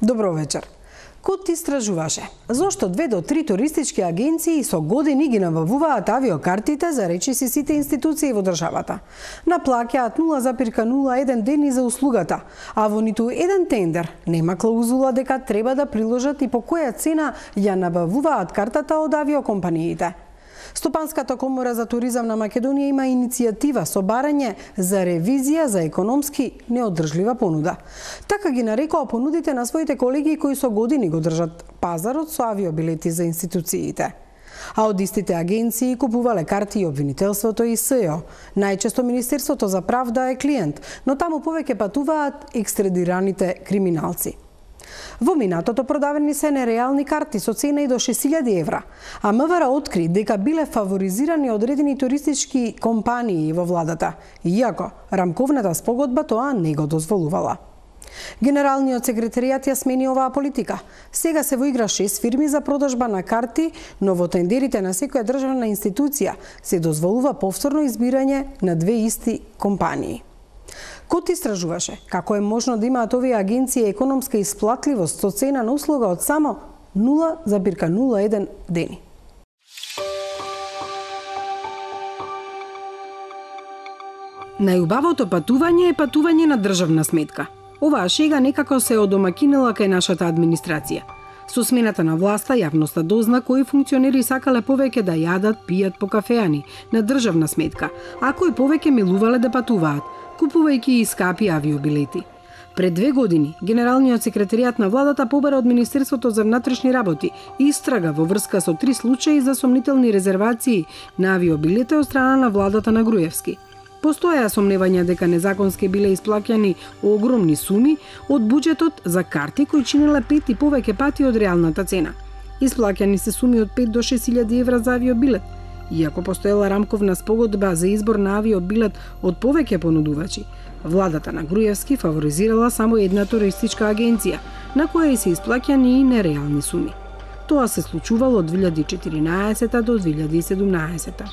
Добро вечер. Кот истражуваше зошто 2 до 3 туристички агенции со години ги набавуваат авиокартите за речиси сите институции во државата. Наплаќаат 0,01 дени за услугата, а во ниту еден тендер нема клаузула дека треба да приложат и по која цена ја набавуваат картата од авиокомпаниите. Стопанската комора за туризам на Македонија има иницијатива со барање за ревизија за економски неодржлива понуда. Така ги нарекоа понудите на своите колеги кои со години го држат пазарот со авиобилети за институциите. А од истите агенции купувале карти и обвинителството и СЈО. Најчесто Министерството за правда е клиент, но таму повеќе патуваат екстрадираните криминалци. Во минатото продавени се нереални карти со цена и до 6.000 евра, а МВР откри дека биле фаворизирани одредени туристички компании во владата, иако рамковната спогодба тоа не го дозволувала. Генералниот секретаријат ја смени оваа политика. Сега се во игра 6 фирми за продажба на карти, но во тендерите на секоја државна институција се дозволува повторно избирање на 2 исти компании. Кот истражуваше како е можно да имаат овие агенции економска исплатливост со цена на услуга од само 0,01 дени. Најубавото патување е патување на државна сметка. Оваа шега некако се одомакинила кај нашата администрација. Со смената на власта, јавноста дозна кои функционери сакале повеќе да јадат, пијат по кафеани на државна сметка, а кои повеќе милувале да патуваат, купувајќи и скапи авиобилети. Пред 2 години, Генералниот секретаријат на владата побара од Министерството за внатрешни работи истрага во врска со 3 случаи за сомнителни резервации на авиобилети од страна на владата на Груевски. Постоја сомневања дека незаконски биле исплаќани огромни суми од буџетот за карти кои чинеле 5 и повеќе пати од реалната цена. Исплаќани се суми од 5 до 6.000 евра за авиобилет, иако постоела рамковна спогодба за избор на авиобилет од повеќе понудувачи. Владата на Груевски фаворизирала само една туристичка агенција, на која се исплаќани и нереални суми. Тоа се случувало од 2014 до 2017.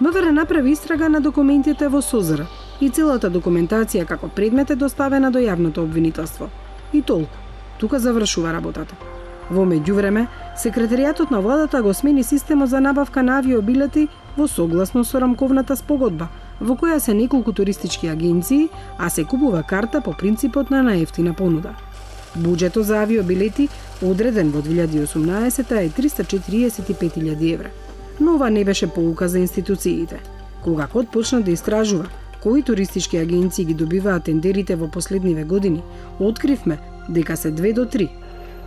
МВР направи истрага на документите во СОЗР и целата документација како предмет е доставена до јавното обвинителство. И толку. Тука завршува работата. Во меѓувреме, секретаријатот на владата го смени системот за набавка на авиобилети во согласно со рамковната спогодба, во која се неколку туристички агенции, а се купува карта по принципот на најефтина понуда. Буџетот за авиобилети, одреден во 2018 е 345.000 евра. Но ова не беше поука за институциите. Кога Кот почна да истражува кои туристички агенции ги добиваат тендерите во последниве години, откривме дека се 2 до 3.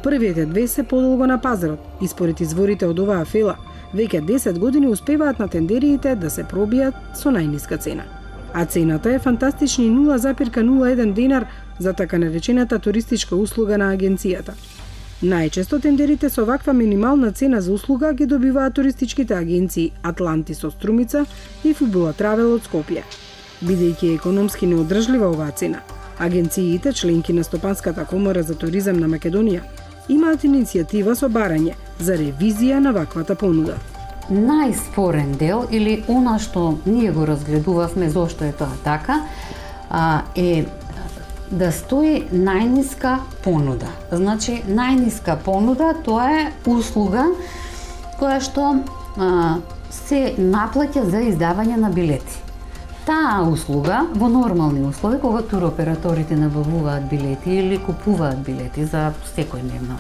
Првите 2 се подолго на пазарот и според изворите од оваа фела, веќе 10 години успеваат на тендериите да се пробијат со најниска цена. А цената е фантастични 0,01 динар за така наречената туристичка услуга на агенцијата. Најчесто тендерите со ваква минимална цена за услуга ги добиваат туристичките агенции Атлантис од Струмица и Фубула Травел од Скопје. Бидејќи економски неодржлива оваа цена, агенциите, членки на Стопанската комора за туризам на Македонија, имаат иницијатива со барање за ревизија на ваквата понуда. Најспорен дел, или она што ние го разгледувавме зошто е тоа така, е да стои најниска понуда. Значи, најниска понуда тоа е услуга која што се наплаќа за издавање на билети. Таа услуга во нормални услови, кога туроператорите набавуваат билети или купуваат билети за секојдневна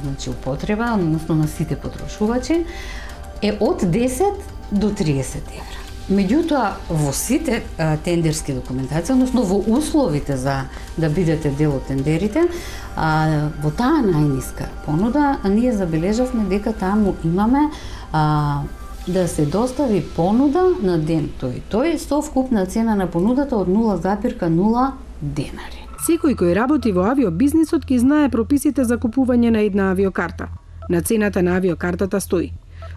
значи употреба, односно на сите потрошувачи, е од 10 до 30 евра. Меѓутоа, во сите тендерски документации, односно во условите за да бидете дел од тендерите, во таа најниска понуда, ние забележавме дека таму имаме да се достави понуда на ден тој со вкупна цена на понудата од 0,0 денари. Секој кој работи во авиобизнисот ќе знае прописите за купување на една авиокарта. На цената на авиокартата стои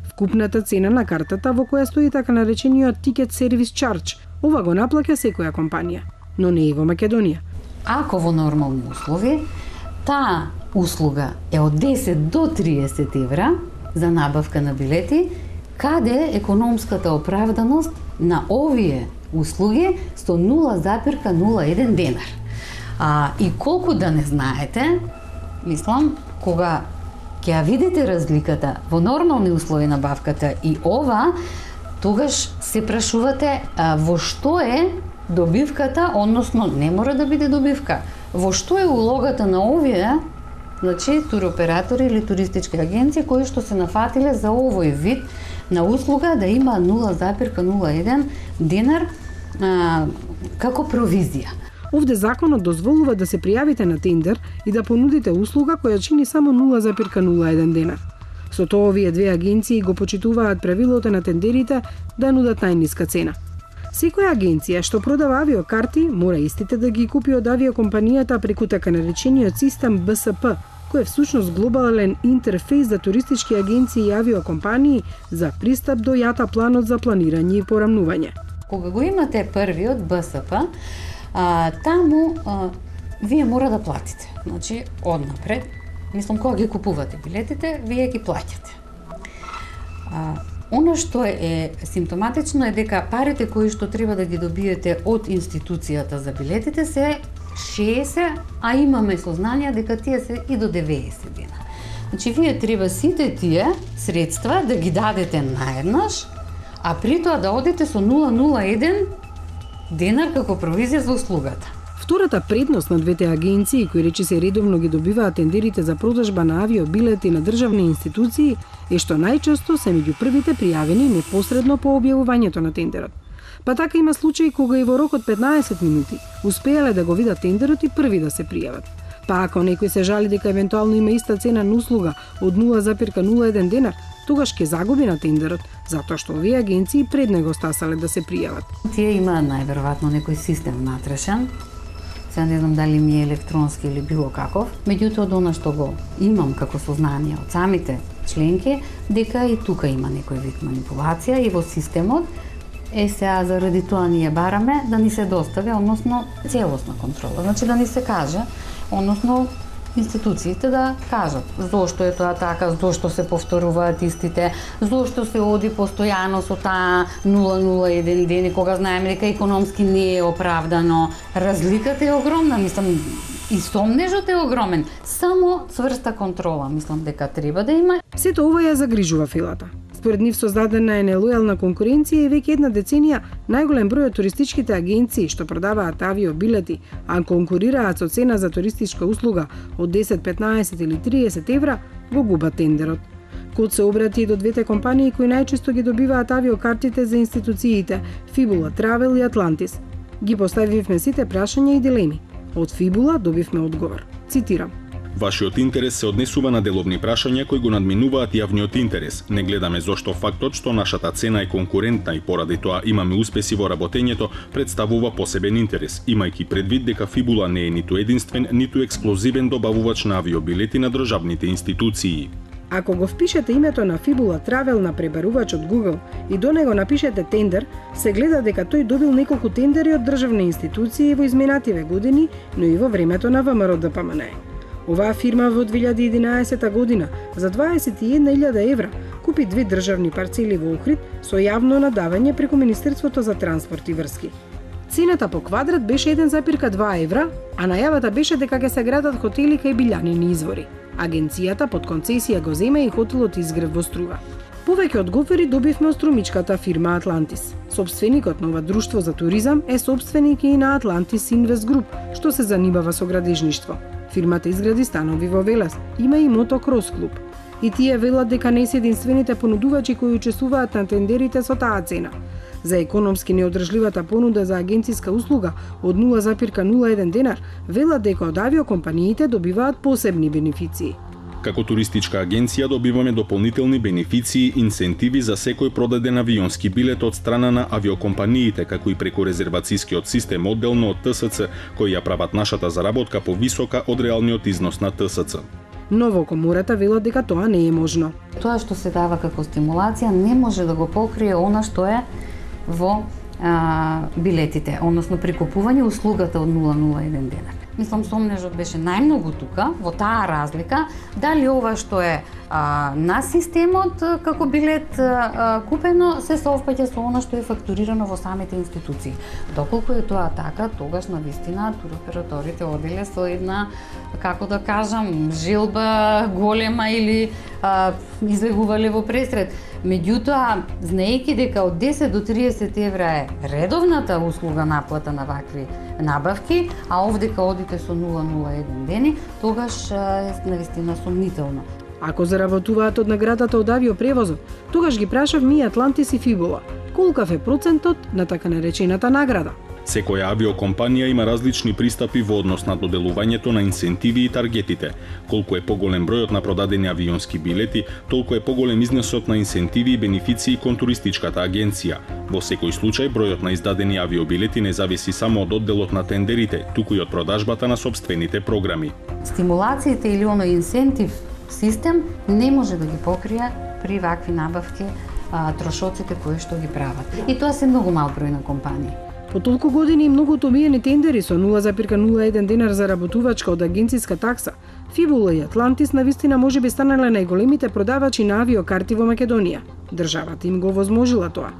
вкупната цена на картата во која стои така наречениот ticket service charge. Ова го наплаќа секоја компанија, но не и во Македонија. Ако во нормални услови, таа услуга е од 10 до 30 евра за набавка на билети, каде економската оправданост на овие услуги со 0,01 денар. И колку да не знаете, мислам, кога ќе ја видите разликата во нормални услови на набавката и ова, тогаш се прашувате во што е добивката, односно не мора да биде добивка. Во што е улогата на овие, значи туроператори или туристички агенции кои што се нафатиле за овој вид на услуга да има 0,01 денар како провизија. Овде законот дозволува да се пријавите на тендер и да понудите услуга која чини само 0,01 денар. Со тоа овие две агенции го почитуваат правилото на тендерите да нудат најниска цена. Секоја агенција што продава авиокарти мора истите да ги купи од авиокомпанијата преку така наречениот систем БСП, кој е всушност глобален интерфејс за туристички агенции и авиокомпании за пристап до JATA планот за планирање и порамнување. Кога го имате првиот БСП, таму вие мора да платите. Значи, однапред, мислам, кога ги купувате билетите, вие ги плаќате. Оно што е симптоматично е дека парите кои што треба да ги добиете од институцијата за билетите се 60, а имаме сознание дека тие се и до 90 дена. Значи, вие треба сите тие средства да ги дадете наеднаш, а при тоа да одите со 0,01 денар како провизија за услугата. Втората предност на двете агенции, кои речи се редовно ги добиваат тендерите за продажба на авиобилети на државни институции, е што најчесто се меѓу првите пријавени непосредно по објавувањето на тендерот. Па така има случаи кога и во рок од 15 минути успеале да го видат тендерот и први да се пријават. Па ако некој се жали дека евентуално има иста цена на услуга од 0,01 денар, тогаш ќе загуби на тендерот, затоа што овие агенции пред него стасале да се пријават. Тие имаат најверојатно некој систем внатрешен. Сега не знам дали ми е електронски или било каков. Меѓутоа, од она што го имам како сознание од самите членки, дека и тука има некој вид манипулација и во системот. Сега заради тоа ние бараме да ни се достави, односно целосна контрола. Значи да ни се каже, односно институциите да кажат зошто е тоа така, зошто се повторуваат истите, зошто се оди постојано со таа 0,01 ден, кога знаеме дека економски не е оправдано. Разликата е огромна, мислам, и сомнежот е огромен. Само цврста контрола, мислам дека треба да има. Сето ова ја загрижува филата. Според нив создадена е нелојална конкуренција и веќе една деценија најголем број од туристичките агенции што продаваат авиобилети, а конкурираат со цена за туристичка услуга од 10, 15 или 30 евра, го губат тендерот. Код се обрати и до двете компании кои најчесто ги добиваат авиокартите за институциите Fibula Travel и Atlantis. Ги поставивме сите прашања и дилеми. Од Fibula добивме одговор. Цитирам: Вашиот интерес се однесува на деловни прашања кои го надминуваат јавниот интерес. Не гледаме зошто фактот што нашата цена е конкурентна и поради тоа имаме успеси во работењето представува посебен интерес, имајќи предвид дека Fibula не е ниту единствен, ниту ексклузивен добавувач на авиобилети на државните институции. Ако го впишете името на Fibula Travel на пребарувач од Google и до него напишете тендер, се гледа дека тој добил неколку тендери од државни институции во изминативе години, но и во времето на ВМРО ДПМН. Оваа фирма во 2011 година за 21.000 евра купи 2 државни парцели во Охрид со јавно надавање преку Министерството за транспорт и врски. Цената по квадрат беше 1,2 евра, а најавата беше дека ќе се градат хотели кај билјанини извори. Агенцијата под концесија го зема и хотелот Изгрев во Струва. Повеќе одговори добивме од струмичката фирма Атлантис. Собственикот на ова друштво за туризам е собственик и на Атлантис Инвест Груп, што се занимава со градежништво. Фирмата изгради станови во Велес, има и мотокрос клуб. И тие велат дека не се единствените понудувачи кои учествуваат на тендерите со таа цена. За економски неодржливата понуда за агенциска услуга од 0,01 денар велат дека од авиокомпаниите добиваат посебни бенефиции. Како туристичка агенција добиваме дополнителни бенефиции и инсентиви за секој продаден авионски билет од страна на авиокомпаниите, како и преку резервацијскиот систем одделно од ТСЦ, кои ја прават нашата заработка повисока од реалниот износ на ТСЦ. Но во комората велат дека тоа не е можно. Тоа што се дава како стимулација не може да го покрие она што е во билетите, односно прикупување услугата од 0,01 денар. Мислам, сомнежот беше најмногу тука, во таа разлика, дали ова што е на системот како билет купено се совпаѓа со она што е фактурирано во самите институции. Доколку е тоа така, тогаш навистина туроператорите оделе со една, како да кажам, желба голема или излегувале во пресред. Меѓутоа, знаејќи дека од 10 до 30 евра е редовната услуга наплата на вакви набавки, а овдека одите со 0,01 дени, тогаш е навистина сомнително. Ако заработуваат од наградата од авиопревозот, тогаш ги прашав ми Атлантис и Фибула, колкав е процентот на така наречената награда. Секоја авиокомпанија има различни пристапи во однос на доделувањето на инсентиви и таргетите. Колку е поголем бројот на продадени авионски билети, толку е поголем износот на инсентиви и бенефиции кон туристичката агенција. Во секој случај, бројот на издадени авиобилети не зависи само од одделот на тендерите, туку и од продажбата на сопствените програми. Стимулациите или оној инсентив систем не може да ги покрие при вакви набавки трошоците кои што ги прават. И тоа се многу мал број на компании. По толку години и многу обиени тендери со 0,01 денар заработувачка од агенциска такса, Фибула и Атлантис навистина можеби станале најголемите продавачи на авиокарти во Македонија. Државата им го возможила тоа.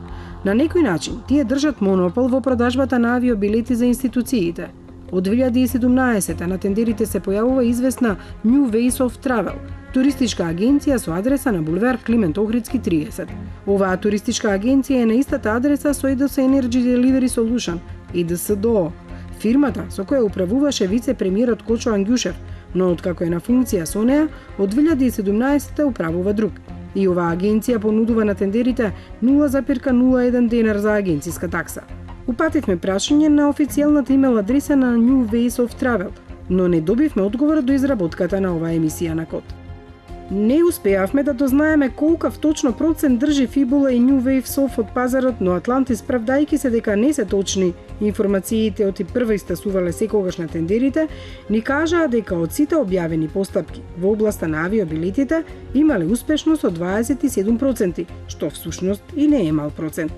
На некој начин, тие држат монопол во продажбата на авиобилети за институциите. Од 2017 на тендерите се појавува известна New Ways of Travel, туристичка агенција со адреса на булевар Климент Охридски 30. Оваа туристичка агенција е на истата адреса со EDS Energy Delivery Solution, EDSDO, фирмата со која управуваше вице-премиерот Кочо Ангјушев, но откако е на функција со неа, од 2017 управува друг. И оваа агенција понудува на тендерите 0,01 денар за агенциска такса. Упативме прашање на официјалната имейл адреса на New Ways of Travel, но не добивме одговор до изработката на оваа емисија на код. Не успеавме да дознаеме колкав точно процент држи Фибула и New Wave Sof од пазарот, но Атлантис, правдајќи се дека не се точни информациите од и прва истасувале секогаш на тендерите, ни кажаа дека од сите објавени постапки во областа на авиобилетите имале успешност од 27%, што всушност и не е мал процент.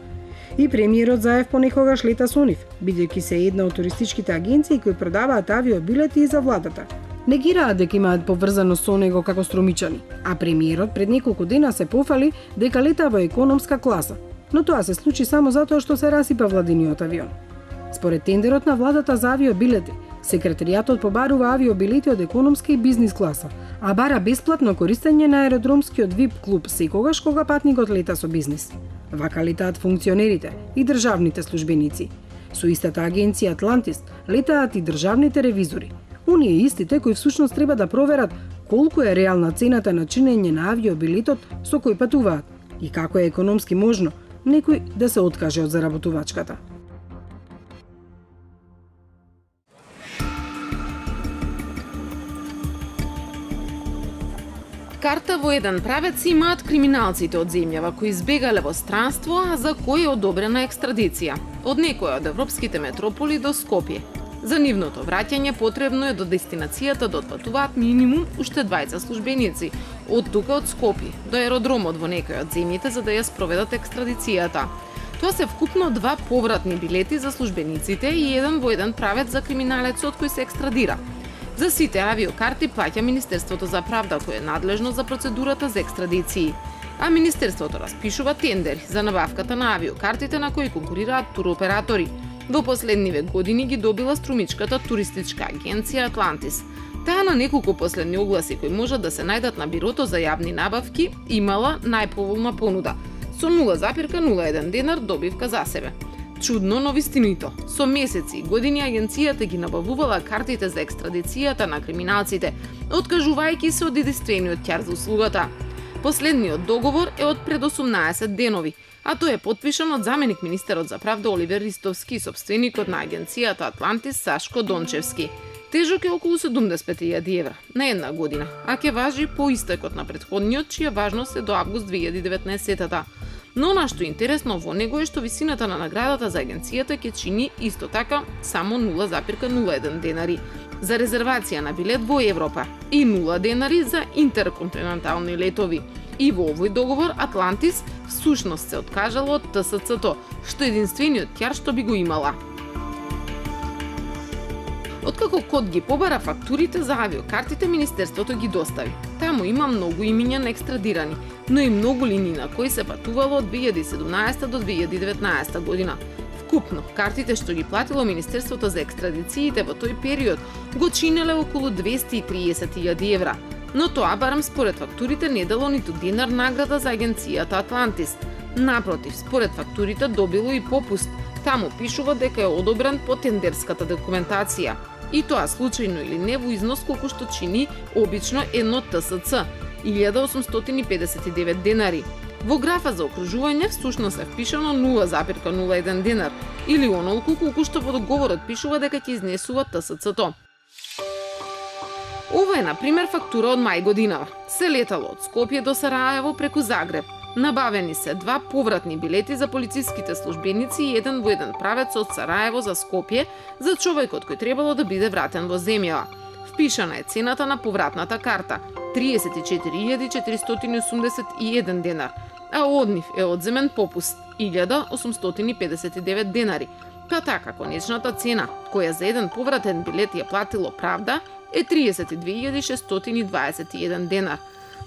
И премиерот Заев понекогаш лета со нив, бидејќи се една од туристичките агенции кои продаваат авиобилети и за владата. Негираат дека имаат поврзаност со него како струмичани, а премиерот пред неколку дена се пофали дека лета во економска класа, но тоа се случи само затоа што се расипа владиниот авион. Според тендерот на владата за авиобилети, секретаријатот побарува авиобилети од економска и бизнис класа, а бара бесплатно користење на аеродромскиот VIP клуб секогаш кога патникот лета со бизнис. Вака летаат функционерите и државните службеници. Со истата агенција Атлантис летаат и државните ревизори. Оние истите кои всушност треба да проверат колку е реална цената на чинење на авиобилетот со кој патуваат и како е економски можно некој да се откаже од заработувачката. Карта во еден правец имаат криминалците од земјава кои избегале во странство, а за кои е одобрена екстрадиција од некоја од европските метрополи до Скопје. За нивното враќање потребно е до дестинацијата да отпатуваат минимум уште 20 службеници од тука од Скопје до аеродромот во некој од земјите за да ја спроведат екстрадицијата. Тоа се вкупно 2 повратни билети за службениците и еден во еден правец за криминалецот кој се екстрадира. За сите авиокарти плаќа Министерството за правда кој е надлежно за процедурата за екстрадиции. А Министерството распишува тендери за набавката на авиокартите на кои конкурираат туроператори. Во последниве години ги добила струмичката туристичка агенција Атлантис. Таа на неколку последни огласи кои можат да се најдат на бирото за јавни набавки имала најповолна понуда со 0,01 денар добивка за себе. Чудно, но вистинито. Со месеци и години агенцијата ги набавувала картите за екстрадицијата на криминалците, откажувајќи се од единствениот ќар за услугата. Последниот договор е од пред 18 денови, а тој е потпишан од заменик министерот за правда Оливер Ристовски и сопственикот на агенцијата Атлантис Сашко Дончевски. Тежок е околу 75.000 евра на една година, а ќе важи по истекот на претходниот, чија важност е до август 2019-та. Но нашто интересно во него е што висината на наградата за агенцијата ќе чини исто така само 0,01 денари за резервација на билет во Европа и 0 денари за интерконтинентални летови. И во овој договор Атлантис всушност се откажала од ТСЦ-то, што е единствениот ќар што би го имала. Откако Код ги побара фактурите за авиокартите, Министерството ги достави. Таму има многу имиња на екстрадирани, но и многу линии на кои се патувало од 2017 до 2019 година. Вкупно, картите што ги платило Министерството за екстрадициите во тој период го чинеле околу 230.000 евра. Но тоа барам според фактурите не дало ниту динар награда за агенцијата Атлантис. Напротив, според фактурите добило и попуст. Таму пишува дека е одобрен по тендерската документација. И тоа случајно или не во износ колку што чини обично едно ТСЦ, 1859 денари. Во графа за окружување всушност е впишано 0,01 денар, или онолку колку што во договорот пишува дека ќе изнесува ТСЦ-то. Ова е, например, фактура од мај годинава. Се летало од Скопје до Сараево преку Загреб. Набавени се 2 повратни билети за полициските службеници и еден во еден правец од Сараево за Скопје за човекот кој требало да биде вратен во земјава. Впишана е цената на повратната карта – 34.481 денар, а од нив е одземен попуст – 1.859 денари. Па така, конечната цена, која за еден повратен билет ја платило правда, е 32.621 денар.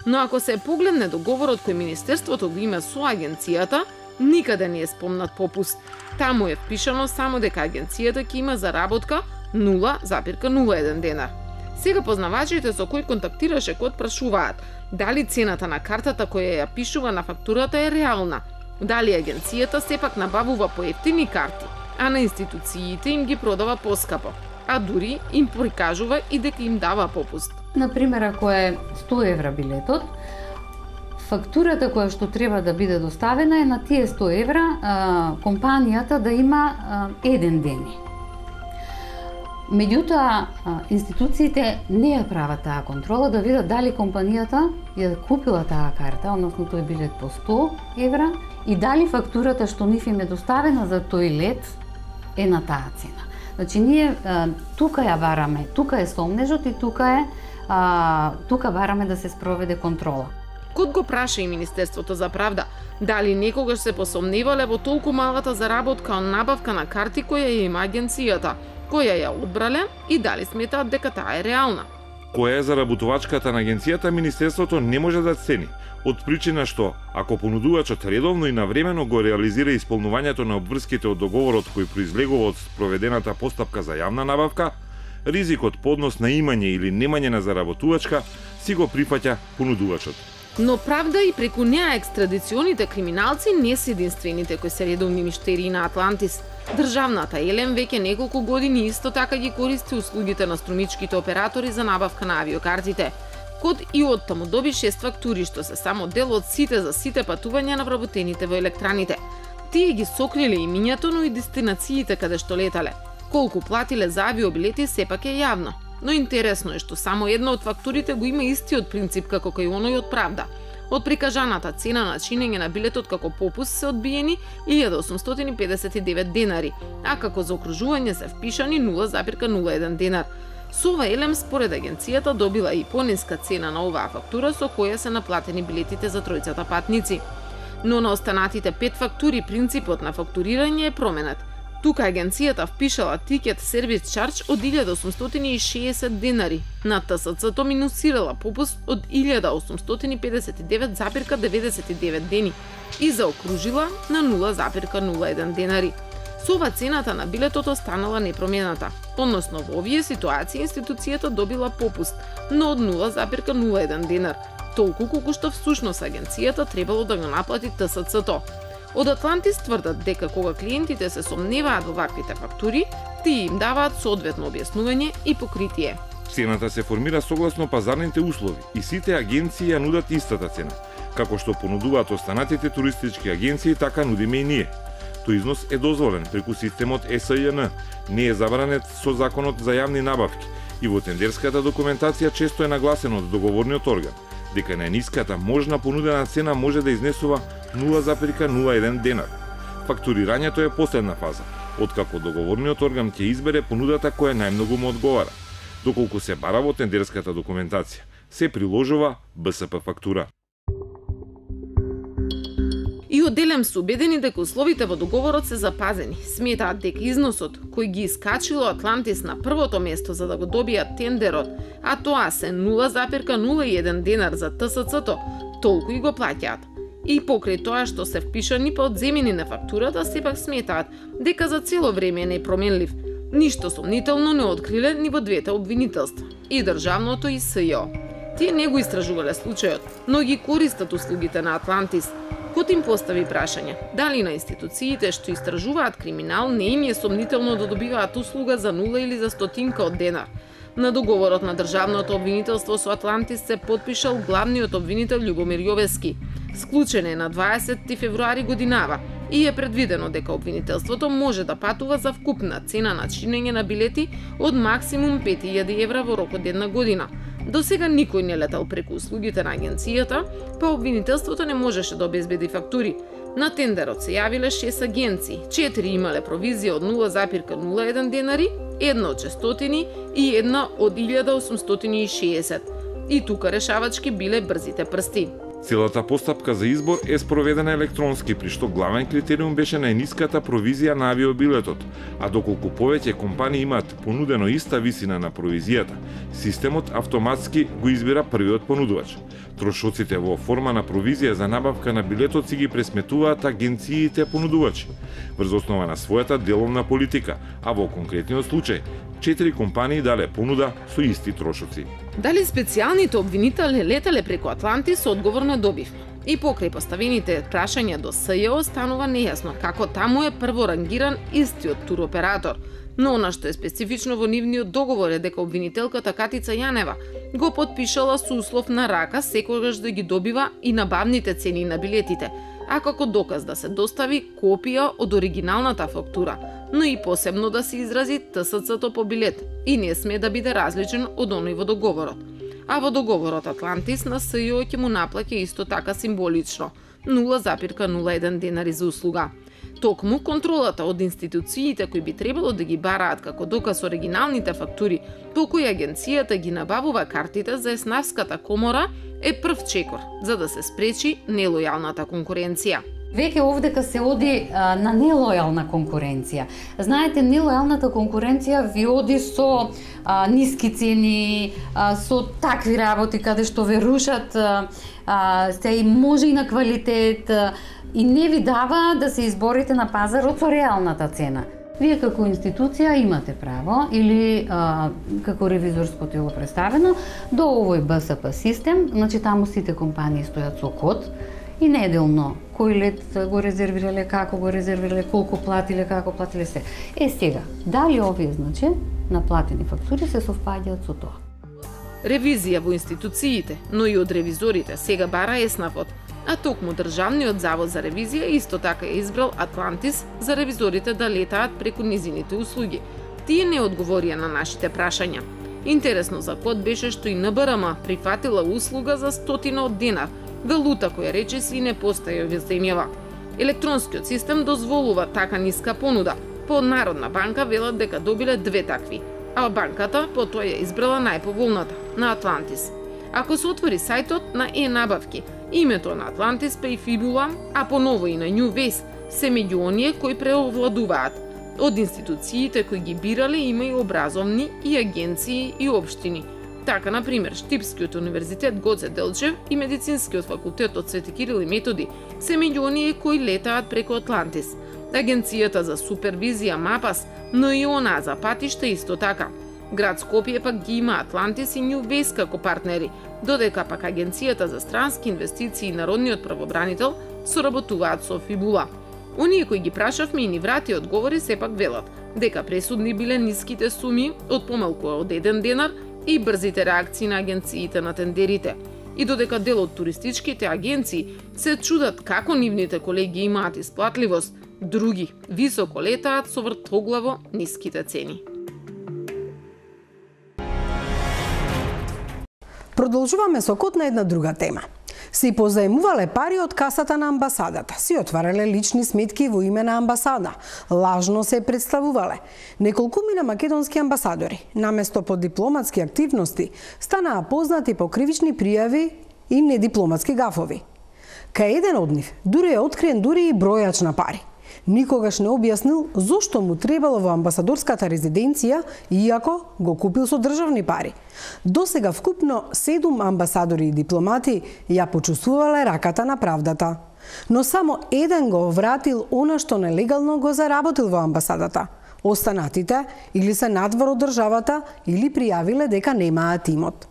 Но ако се погледне договорот кој Министерството го има со агенцијата, никаде не е спомнат попуст. Таму е впишано само дека агенцијата ќе има заработка 0,01 денар. Сега познавачите со кои контактираше Код прашуваат дали цената на картата која ја пишува на фактурата е реална, дали агенцијата сепак набавува поевтини карти, а на институциите им ги продава поскапо, а дури им прикажува и дека им дава попуст. Например, ако е 100 евра билетот, фактурата која што треба да биде доставена е на тие 100 евра компанијата да има еден ден. Меѓутоа, институциите не ја прават таа контрола да видат дали компанијата ја купила таа карта, односно тој билет по 100 евра, и дали фактурата што нив им е доставена за тој лет е на таа цена. Значи, ние тука ја бараме, тука е сомнежот и тука бараме да се спроведе контрола. Код го праша и Министерството за правда дали некогаш се посомневале во толку малата заработка од набавка на карти која ја има агенцијата, која ја одбрале и дали сметаат дека таа е реална. Која е заработувачката на агенцијата, Министерството не може да цени, од причина што, ако понудувачот редовно и навремено го реализира исполнувањето на обврските од договорот кој произлегува од спроведената постапка за јавна набавка, ризикот по однос на имање или немање на заработувачка си го прифаќа понудувачот. Но правда и преку неа екстрадиционите криминалци не се единствените кои се редовни миштерии на Атлантис. Државната Елем веќе неколку години исто така ги користи услугите на струмичките оператори за набавка на авиокартите. Код и оттаму доби 6 фактури што се само дел од сите за сите патувања на вработените во електраните. Тие ги сокриле имињето, но и дестинациите каде што летале. Колку платиле за авиобилети сепак е јавно. Но интересно е што само една од фактурите го има истиот принцип како кај оној од правда. Од прикажаната цена на чинење на билетот како попуст се одбиени 1.859 денари, а како за окружување се впишани 0,01 денар. Со ова Елем според агенцијата добила и пониска цена на оваа фактура со која се наплатени билетите за тројцата патници. Но на останатите 5 фактури принципот на фактурирање е променет. Тука агенцијата впишала тикет сервис чардж од 1.860 денари. На ТСЦ-то минусирала попуст од 1.859,99 дени и заокружила на 0,01 денари. Со ова цената на билетот останала непромената, односно во овие ситуации институцијата добила попуст, но од 0,01 денар, толку колку што всушност агенцијата требало да го наплати ТСЦ-то. Од Атлантис тврдат дека кога клиентите се сомневаат во ваквите фактури, тие им даваат соодветно објаснување и покритие. Цената се формира согласно пазарните услови и сите агенции ја нудат истата цена. Како што понудуваат останатите туристички агенции, така нудиме и ние. Тој износ е дозволен преку системот СЈН, не е забранет со законот за јавни набавки и во тендерската документација често е нагласено од договорниот орган дека најниската можна понудена цена може да изнесува 0,01 денар. Фактурирањето е последна фаза, откако договорниот орган ќе избере понудата која најмногу му одговара. Доколку се бара во тендерската документација, се приложува БСП фактура. И одделем се убедени дека условите во договорот се запазени. Сметаат дека износот кој ги искачило Атлантис на првото место за да го добијат тендерот, а тоа се 0,01 денар за ТСЦ-то, толку и го плаќаат. И покрај тоа што се впишани по одземени на фактурата, сепак сметаат дека за цело време е непроменлив. Ништо сомнително не откриле ни во двете обвинителства, и државното и СЈО. Тие не го истражувале случајот, но ги користат услугите на Атлантис. Кот им постави прашање, дали на институциите што истражуваат криминал не им е сомнително да добиваат услуга за 0 или за стотинка од денар. На договорот на државното обвинителство со Атлантис се потпишал главниот обвинител Љубомир Јовески. Склучен е на 20 февруари годинава и е предвидено дека обвинителството може да патува за вкупна цена на чинење на билети од максимум 5000 евра во рок од една година. До сега никој не летал преку услугите на агенцијата, па обвинителството не можеше да обезбеди фактури. На тендерот се јавиле 6 агенции, 4 имале провизија од 0,01 денари, една од 600 и една од 1860. И тука решавачки биле брзите прсти. Целата постапка за избор е спроведена електронски, при што главен критериум беше најниската провизија на авиобилетот, а доколку повеќе компании имаат понудено иста висина на провизијата, системот автоматски го избира првиот понудувач. Трошоците во форма на провизија за набавка на билетот си ги пресметуваат агенциите понудувачи, врз основа на својата деловна политика, а во конкретниот случај 4 компании дале понуда со исти трошоци. Дали специјалните обвинители летале преку Атлантис, одговор не добивме. И покрај поставените прашања до СЈО останува нејасно како таму е прворангиран истиот туроператор. Но она што е специфично во нивниот договор е дека обвинителката Катица Јанева го потпишала со услов на рака секогаш да ги добива и набавните цени на билетите, а како доказ да се достави копија од оригиналната фактура, но и посебно да се изрази ТСЦ-то по билет и не сме да биде различен од оној во договорот. А во договорот Атлантис на СЈО ќе му наплаќа исто така символично 0,01 денари за услуга. Токму контролата од институциите кои би требало да ги бараат како доказ оригиналните фактури, по кои агенцијата ги набавува картите за Еснавската комора, е прв чекор за да се спречи нелојалната конкуренција. Веќе овдека се оди на нелојална конкуренција. Знаете, нелојалната конкуренција ви оди со ниски цени, со такви работи каде што ве рушат, се и може и на квалитет, и не ви дава да се изборите на пазарот со реалната цена. Вие како институција имате право, или како ревизорско тело представено, до овој БСП систем, значи таму сите компании стојат со код, и неделно кој лет го резервирале, како го резервирале, колку платиле, како платиле се. Сега, дали овие, значи, наплатени фактури се совпаѓаат со тоа? Ревизија во институциите, но и од ревизорите сега бара Еснавот, а токму Државниот завод за ревизија исто така е избрал Атлантис за ревизорите да летаат преку низините услуги. Тие не одговорија на нашите прашања. Интересно за код беше што и НБРМ прифатила услуга за 100 од денар, валута која речиси не постои во земјава. Електронскиот систем дозволува така ниска понуда. По Народна банка велат дека добиле 2 такви, а банката потоа ја избрала најповолната, на Атлантис. Ако се отвори сајтот на e-набавки, името на Атлантис па и фибула, а поново и на NewWays, се меѓу оние кои преовладуваат. Од институциите кои ги бирале има и образовни, и агенции, и општини. Така, например, Штипскиот универзитет Гоце Делчев и Медицинскиот факултет од Свети Кирил и Методи се меѓу оние кои летаат преку Атлантис. Агенцијата за супервизија МАПАС, но и она за патишта исто така. Град Скопје пак ги има Атлантис и New Ways како партнери, додека пак Агенцијата за странски инвестиции и Народниот правобранител соработуваат со Фибула. Оние кои ги прашавме и ни врати одговори сепак велат дека пресудни биле ниските суми од помалку од 1 денар и брзите реакции на агенциите на тендерите. И додека дел од туристичките агенции се чудат како нивните колеги имаат исплатливост, други високо летаат со вртоглаво ниските цени. Продолжуваме со код на една друга тема. Си позаемувале пари од касата на амбасадата, си отварале лични сметки во име на амбасада, лажно се представувале. Неколкумина македонски амбасадори, наместо по дипломатски активности, станаа познати по кривични пријави и недипломатски гафови. Кај еден од нив дури е откриен дури и бројач на пари. Никогаш не објаснил зошто му требало во амбасадорската резиденција, иако го купил со државни пари. Досега вкупно 7 амбасадори и дипломати ја почувствувале раката на правдата. Но само еден го вратил она што нелегално го заработил во амбасадата. Останатите или се надвор од државата или пријавиле дека немаат имот.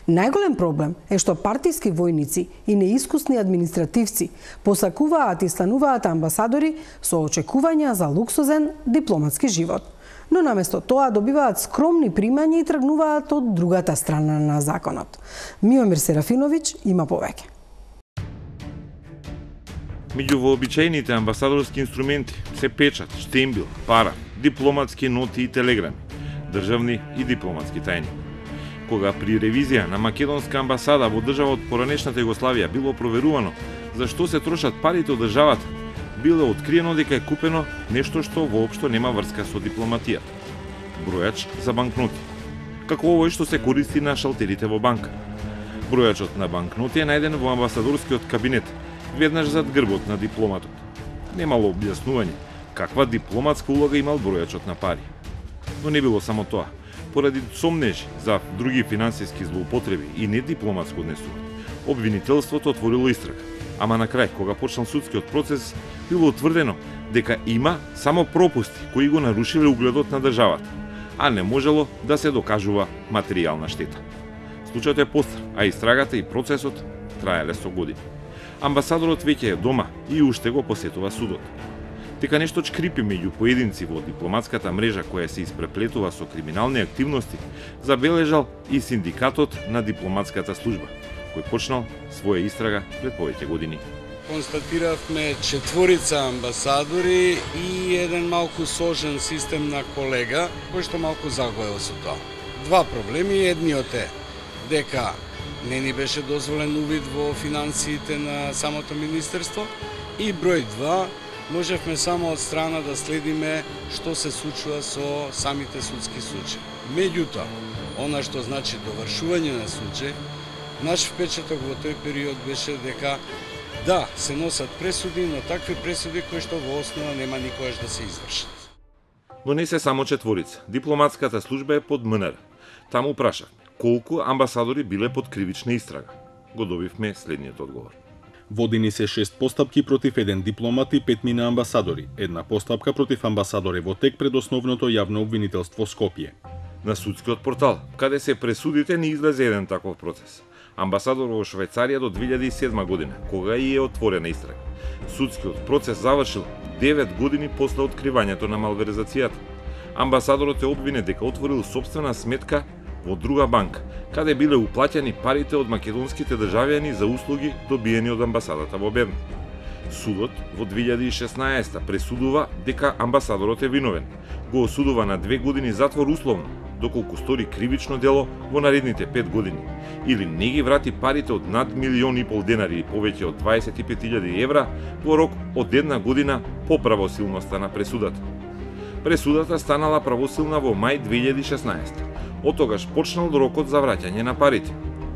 Најголем проблем е што партиски војници и неискусни административци посакуваат и стануваат амбасадори со очекувања за луксузен дипломатски живот. Но наместо тоа добиваат скромни примања и тргнуваат од другата страна на законот. Миомир Серафиновиќ има повеќе. Меѓу вообичаените амбасадорски инструменти се печат, штембил, пара, дипломатски ноти и телеграми, државни и дипломатски тајни. Кога при ревизија на македонска амбасада во држава од поранешната Југославија било проверувано за што се трошат парите од државата, било откриено дека е купено нешто што воопшто нема врска со дипломатијата. Бројач за банкноти, како овој што се користи на шалтерите во банка. Бројачот на банкноти е најден во амбасадорскиот кабинет, веднаш зад грбот на дипломатот. Немало објаснување каква дипломатска улога имал бројачот на пари. Но не било само тоа. Поради сомнежи за други финансиски злоупотреби и недипломатско однесување, обвинителството отворило истрага. Ама на крај, кога почнал судскиот процес, било утврдено дека има само пропусти кои го нарушиле угледот на државата, а не можело да се докажува материјална штета. Случајот е постар, а истрагата и процесот траеле со години. Амбасадорот веќе е дома и уште го посетува судот. Дека нешто чкрипи меѓу поединци во дипломатската мрежа која се испреплетува со криминални активности, забележал и синдикатот на дипломатската служба, кој почнал своја истрага пред повеќе години. Констатиравме 4 амбасадори и еден малку сложен систем на колега, кој што малку загоел со тоа. Два проблеми, едниот е дека не ни беше дозволен увид во финансиите на самото министерство и број 2, можевме само од страна да следиме што се случува со самите судски случаи. Меѓутоа, она што значи довршување на случај, наш впечаток во тој период беше дека да, се носат пресуди, но такви пресуди кои што во основа нема никогаш да се извршат. Но не се само 4. Дипломатската служба е под МНР. Таму прашавме колку амбасадори биле под кривична истрага. Го добивме следниот одговор. Водени се 6 постапки против еден дипломат и 5 мина амбасадори. Една постапка против амбасадори во тек пред основното јавно обвинителство Скопје. На судскиот портал, каде се пресудите, не излезе еден таков процес. Амбасадор во Швајцарија до 2007 година, кога и е отворена истрага. Судскиот процес завршил 9 години после откривањето на малверзацијата. Амбасадорот е обвинет дека отворил сопствена сметка во друга банка, каде биле уплаќани парите од македонските државјани за услуги добиени од амбасадата во Берн. Судот во 2016 пресудува дека амбасадорот е виновен. Го осудува на 2 години затвор условно, доколку стори кривично дело во наредните 5 години, или не ги врати парите од над 1,5 милиони денари и повеќе од 25.000 евра во рок од 1 година по правосилноста на пресудата. Пресудата станала правосилна во мај 2016. Од тогаш почнал рокот за враќање на парите.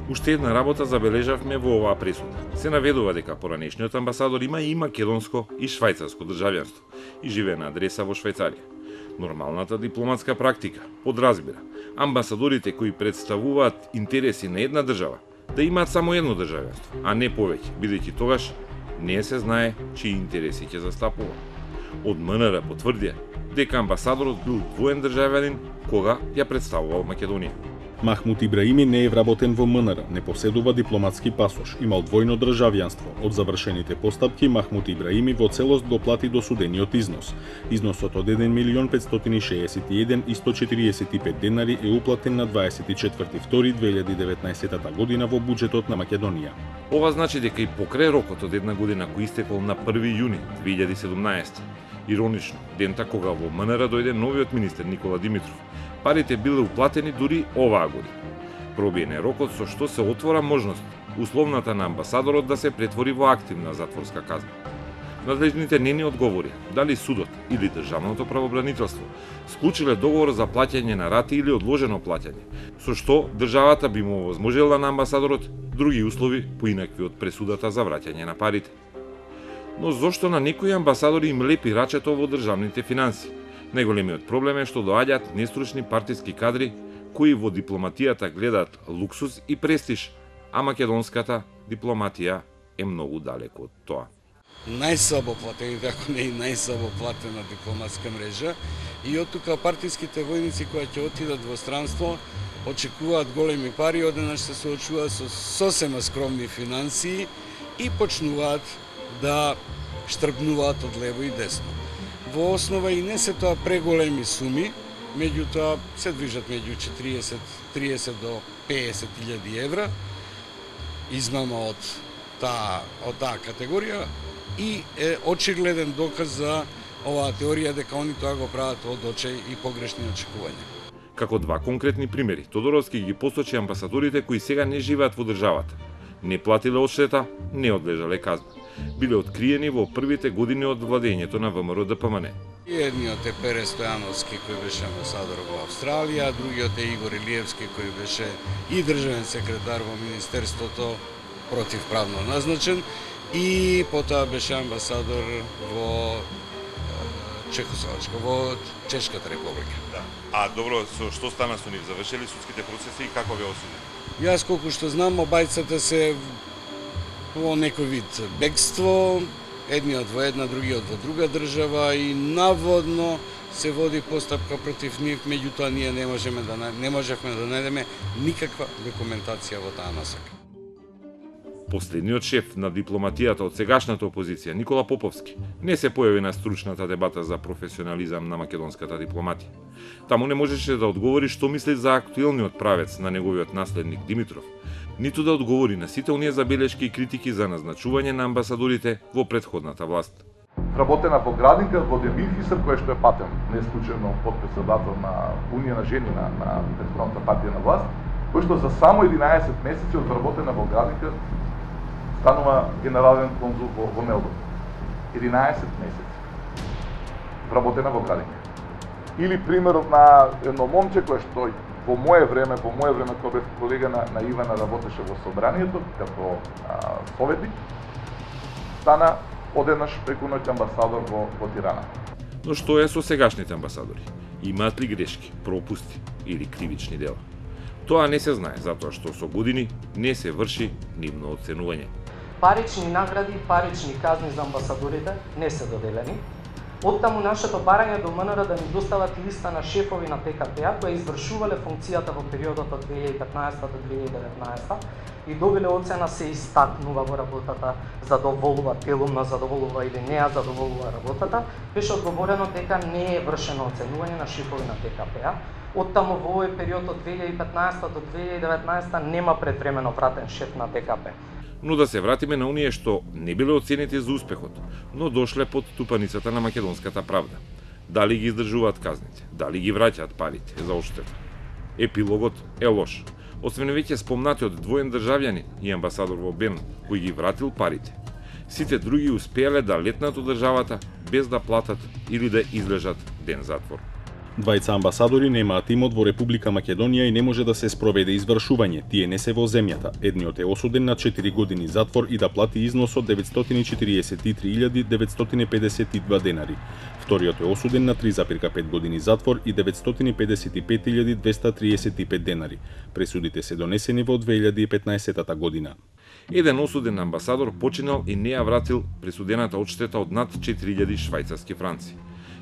Уште една работа забележавме во оваа пресуда. Се наведува дека поранешниот амбасадор има и македонско и швајцарско државјанство и живее на адреса во Швајцарија. Нормалната дипломатска практика подразбира амбасадорите кои представуваат интереси на една држава да имаат само едно државенство, а не повеќе, бидејќи тогаш не се знае чии интереси ќе застапува. Од МНР потврдија дека амбасадорот бил двоен државјанин кога ја представувал Македонија. Махмут Ибраими не е вработен во МНР, не поседува дипломатски пасош, имал двојно државјанство. Од завршените постапки, Махмут Ибраими во целост го плати досудениот износ. Износот од 1.561.145 денари е уплатен на 24.2.2019 година во буџетот на Македонија. Ова значи дека и покрај рокот од една година кој истекол на 1 јуни 2017, иронично, дента кога во МНР дојде новиот министер Никола Димитров, парите биле уплатени дури оваа година. Пробиен е рокот со што се отвора можност условната на амбасадорот да се претвори во активна затворска казна. Надлежните не ни одговорија дали судот или државното правобранителство склучиле договор за плаќање на рати или одложено плаќање, со што државата би му овозможила на амбасадорот други услови поинакви од пресудата за враќање на парите. Но зошто на некои амбасадори им лепи рачето во државните финанси? Најголемиот проблем е што доаѓаат нестручни партиски кадри кои во дипломатијата гледаат луксус и престиж, а македонската дипломатија е многу далеко од тоа. Најслабо платените, ако не и најслабо платена дипломатска мрежа, и од тука партиските војници кои ќе отидат во странство очекуваат големи пари, одеднаш се соочуваат со сосема скромни финансии и почнуваат да штрбнуваат од лево и десно. Во основа и не се тоа преголеми суми, меѓутоа се движат меѓу 30 до 50.000 евра, измама од таа категорија и е очигледен доказ за оваа теорија дека они тоа го прават од очај и погрешни очекувања. Како два конкретни примери, Тодоровски ги посочи амбасадорите кои сега не живеат во државата. Не платиле одштета, не одлежале казна. Биле откриени во првите години од владењето на ВМРО ДПМН. Едниот е Пере Стојановски кој беше амбасадор во Австралија, другиот е Игор Илиевски кој беше и државен секретар во Министерството противправно назначен и потоа беше амбасадор во Чехословачка, во Чешката република. Да. А добро, со што стана со нив? Завршили судските процеси и како беа осудени? Јас колку што знам, обајцата се во некој вид бегство, едниот во една, другиот во друга држава и наводно се води постапка против нив, меѓутоа ние не можевме да најдеме никаква документација во таа насока. Последниот шеф на дипломатијата од сегашната опозиција, Никола Поповски, не се појави на стручната дебата за професионализам на македонската дипломатија. Таму не можеше да одговори што мисли за актуелниот правец на неговиот наследник Димитров, ниту да одговори на сите оние забелешки и критики за назначување на амбасадорите во претходната власт. Вработена во Градинка, во Демирфисер, кој што е патен, не случајно подпредседател на Унија на жени на претходната партија на власт, кој што за само 11 месеци од вработена во Градинка станува генерален конзул во Мелбурн. 11 месеци вработена во Градинка. Или примерот на едно момче кое што во моје време кога бев колега на Ивана, работеше во собранието како советник, стана одеднаш преку ноќ амбасадор во Тирана. Но што е со сегашните амбасадори? Имаат ли грешки, пропусти или кривични дела? Тоа не се знае, затоа што со години не се врши нивно оценување. Парични награди и парични казни за амбасадорите не се доделени. Оттаму нашето барање до МНР да ни достават листа на шефови на ТКП-а кои извршувале функцијата во периодот од 2015 до 2019 и добиле оцена се истакнува во работата, задоволува, телумно задоволува или не ја задоволува работата, беше одговорено дека не е вршено оценување на шефови на ТКП-а. Оттаму во овој период од 2015 до 2019 нема предвремено вратен шеф на ТКП. Но да се вратиме на оние што не биле оценети за успехот, но дошле под тупаницата на македонската правда. Дали ги издржуваат казните, дали ги враќаат парите за одштета. Епилогот е лош. Освен веќе спомнатиот двоен државјанин и амбасадор во Бен, кој ги вратил парите, сите други успеале да летнат од државата без да платат или да излежат ден затвор. Двајца амбасадори немаат имот во Република Македонија и не може да се спроведе извршување. Тие не се во земјата. Едниот е осуден на 4 години затвор и да плати износ од 943.952 денари. Вториот е осуден на 3,5 години затвор и 955.235 денари. Пресудите се донесени во 2015 година. Еден осуден амбасадор починал и не ја вратил присудената одштета од над 4.000 швајцарски франци.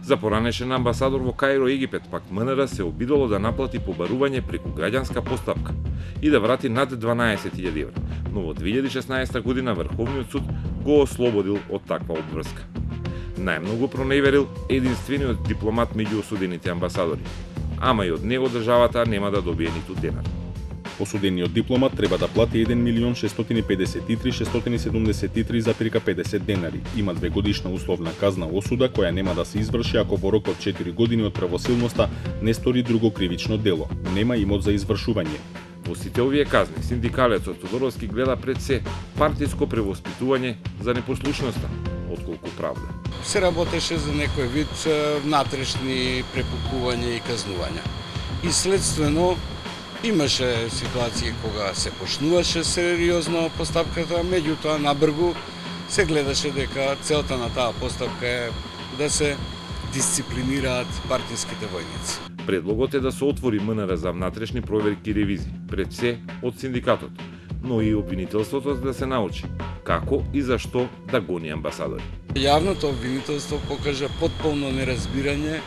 За поранешен амбасадор во Каиро, Египет, пак МНР се обидоло да наплати побарување преку граѓанска постапка и да врати над 12.000 евра, но во 2016 година Врховниот суд го ослободил од таква обврска. Најмногу проневерил единствениот дипломат меѓу осудените амбасадори, ама и од него државата нема да добие ниту денар. Осудениот дипломат треба да плати 1.653.673,50 денари. Има 2-годишна условна казна осуда која нема да се изврши ако во рок од 4 години од правосилноста не стори друго кривично дело. Нема имот за извршување. Во сите овие казни, синдикалецот Тодоровски гледа пред се партиско превоспитување за непослушноста, отколку правда. Се работеше за некој вид внатрешни препукување и казнувања. И следствено имаше ситуации кога се почнуваше сериозно постапката, меѓутоа набргу се гледаше дека целта на таа постапка е да се дисциплинираат партиските војници. Предлогот е да се отвори МНР за внатрешни проверки и ревизии, пред се од синдикатот, но и обвинителството да се научи како и зашто да гони амбасадори. Јавното обвинителство покажа потполно неразбирање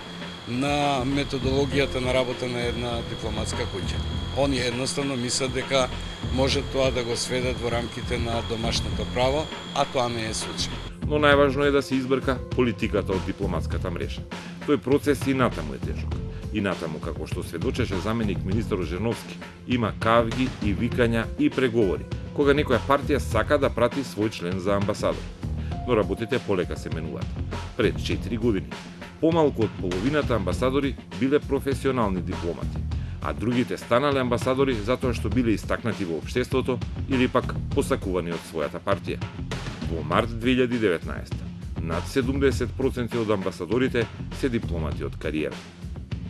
на методологијата на работа на една дипломатска куќа. Они едноставно мислат дека може тоа да го сведат во рамките на домашното право, а тоа не е случај. Но најважно е да се избрка политиката од дипломатската мрежа. Тој процес и натаму е тежок. И натаму, како што сведочеше заменик министер Женовски, има кавги и викања и преговори, кога некоја партија сака да прати свој член за амбасадор. Но работите полека се менуваат. Пред 4 години, помалку од половината амбасадори биле професионални дипломати, а другите станале амбасадори затоа што биле истакнати во општеството или пак посакувани од својата партија. Во март 2019, над 70% од амбасадорите се дипломати од кариера.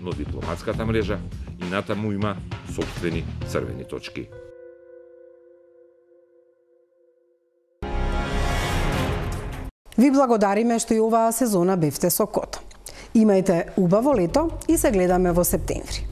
Но дипломатската мрежа и натаму има сопствени црвени точки. Ви благодариме што и оваа сезона бевте со КОТ. Имајте убаво лето и се гледаме во септември.